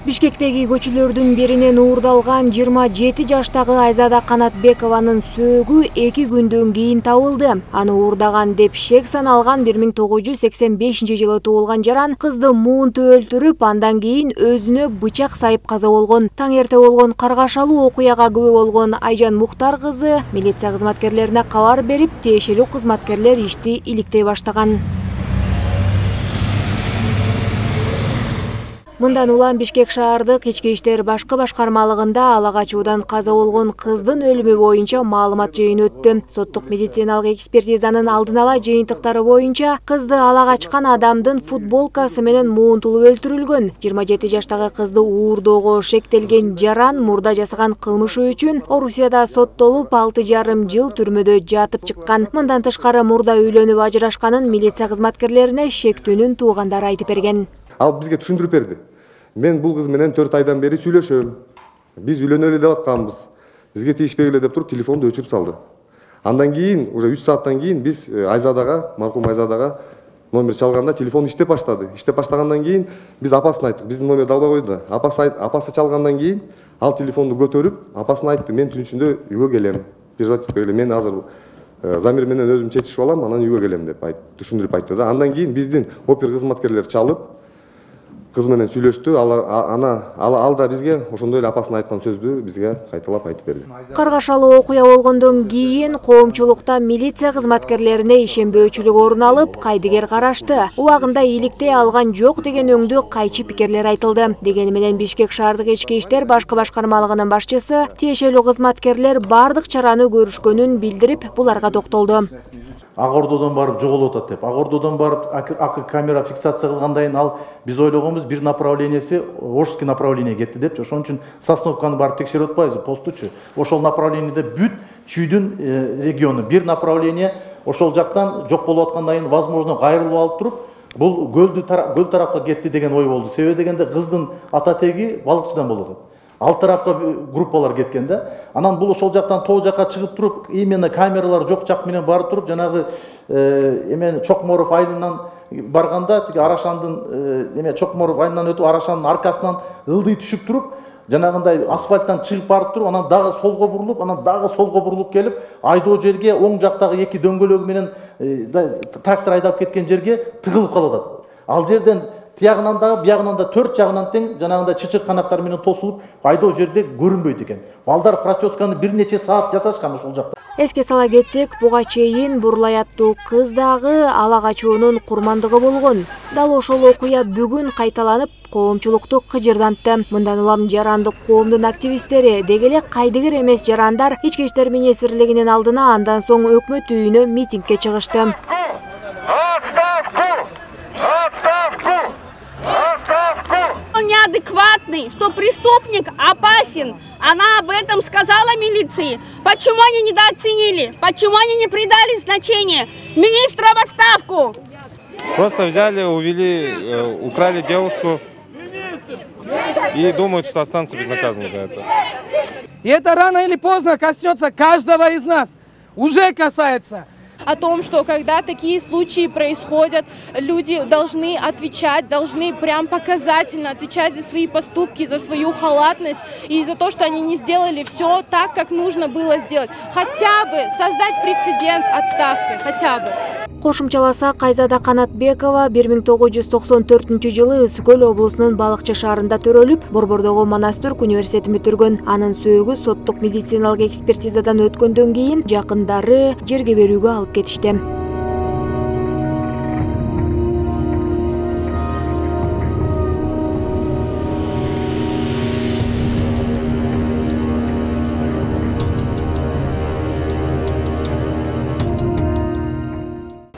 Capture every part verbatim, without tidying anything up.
Бишкектеги көчөлөрдүн биринен уурдалган жыйырма жети жаштагы Айзада Канатбекованын сөөгү эки күндөн кийин табылды. Аны уурдаган деп шек саналган бир миң тогуз жүз сексен бешинчи жылы туулган жаран кызды муунту өлтүрүп, андан кийин өзүнө бычак сайып каза болгон. Таң эрте болгон каргашалуу окуяга күбө болгон Айжан Мухтар кызы милиция кызматкерлерине кабар берип, тиешелүү кызматкерлер ишти иликтей баштаган. Мындан улам Бишкек шаардык ички иштер башкы башкармалыгында ала качуудан каза болгон кыздын өлүмү боюнча маалымат жыйыны өттү. Соттук медициналык экспертизанын алдын ала жыйынтыктары боюнча кызды ала качкан адамдын футболкасы менен муунтулуп өлтүрүлгөн. жыйырма жети жаштагы кызды уурдоого шектелген жаран мурда жасаган кылмышы үчүн Орусияда соттолуп алты жарым жыл түрмөдө жатып чыккан. Мындан тышкары мурда үйлөнүп ажырашканын милиция кызматкерлерине шектүүнүн туугандары айтып берген. Ал бизге түшүндүрүп берди. Мен бул кыз менен төрт айдан бери сүйлөшөм. Биз үйлөнөлү деп атканбыз. Бизге тийишпегиле деп туруп телефонду өчүрүп салды. Андан кийин, уже үч сааттан кийин биз Айзадага, маркум Айзадага номер чалганда телефон иштеп баштады. Иштеп баштагандан кийин биз апасын айттык. Биздин номерди албай койду. Апасы апасы чалгандан кийин ал телефонду көтөрүп, апасына айтты: "Мен түн ичинде үйгө келем. Переживать этпегиле, мен азыр замир менен өзүм чечишип алам, анан үйгө келем" деп айтты, түшүндүрүп айтты да. Андан кийин биздин опер кызматкерлер чалып кыз менен сүйлөштү. Ана ал да бизге ошондой эле апасына айткан сөздү бизге кайталап айтып берди. Каргашалуу окуя болгондон кийин коомчулукта милиция кызматкерлерине ишенбөөчүлүк орун алып, кайдыгер карашты. Убагында иликтей алган жок деген өңдүү кайчы пикирлер айтылды. Дегени менен Бишкек шаардык ички иштер башкы башкармалыгынын башчысы тиешелүү кызматкерлер бардык чараны көрүшкөнүн билдирип, буларга токтолду. Ак Ордодон барып жоголуп атат деп. Ак Ордодон барып ак камера фиксация кылгандан ал биз ойлогонбуз бир направленияси Орский направление кетти депчи. Ошон үчүн Сосновканы барып текшерип атпайбызбы, постучу. Ошол направлениеде бүт чүйдүн региону бир направление ошол жактан жок болуп аткандан кийин возможно кайрылып алып туруп, бул көлдү көл тарапка кетти деген ой болду. Себеби дегенде кыздын ата теги балыкчыдан болуп атат. Ал тарапка группалар кеткен да. Анан бул ошол жактан тоо жакка чыгып туруп, именно камералар жок жак менен барып туруп, жанагы эмен Чокморов айылынан барганда, тиги Арашандын эме Чокморов айылынан өтүп, Арашандын аркасынан ылдый түшүп туруп, жанагындай асфальттан чыгып барып туруп, анан дагы солго бурулуп, анан дагы солго бурулуп келип, айдоо жерге оң жактагы эки дөңгөлөгү менен трактор айдап кеткен жерге тыгылып калып атат. Ал жерден тиягынан да, биягынан да төрт жагынан тең жанагындай чычыр канаттар менен тосулуп, айдоо жерде көрүнбөйт экен. Балдар прочёсканы бир нече саат жасашкан ошол жакта. Эске сала кетсек, буга чейин Бурлай аттуу кыз дагы ала качуунун курмандыгы болгон. Дал ошол окуя бүгүн кайталанып, коомчулукту кыжырдантты. Мындан улам жарандык коомдун активисттери, деги эле кайдыгер эмес жарандар ички иштер министрлигинин алдына, андан соң өкмөт үйүнө митингге чыгышты. Он неадекватный, что преступник опасен. Она об этом сказала милиции. Почему они недооценили? Почему они не придали значения? Министра в отставку! Просто взяли, увели, украли девушку и думают, что останутся безнаказанными за это. И это рано или поздно коснется каждого из нас. Уже касается. О том, что когда такие случаи происходят, люди должны отвечать, должны прям показательно отвечать за свои поступки, за свою халатность и за то, что они не сделали все так, как нужно было сделать. Хотя бы создать прецедент отставкой, хотя бы. Кошумчаласак, Айзада Канатбекова бир миң тогуз жүз токсон төртүнчү жылы Ысык көл облусунун Балыкчы шаарында төрөлүп, Борбордогу Манастырк университетин бүтүргөн. Анын сөөгү соттук медициналык экспертизадан өткөндөн кийин жакындары жерге берүүгө алып кетишти.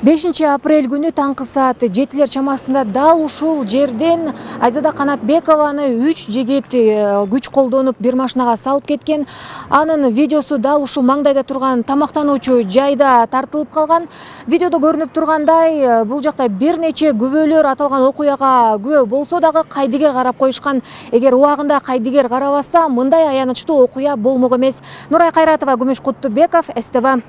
бешинчи апрель күнү таңкы саат жетилер чамасында дал ушул жерден Айзада Канатбекованы үч жигит күч колдонуп бир машинага салып кеткен. Анын видеосу дал ушул маңдайда турган тамактануучу жайда тартылып калган. Видеодо көрүнүп тургандай, бул жакта бир нече күбөлөр аталган окуяга күбө болсо дагы кайдыгер карап коюшкан. Эгер убагында кайдыгер карабаса, мындай аянычтуу окуя болмок эмес. Нурай Кайратова, Күмүш Куттубеков, С Т В.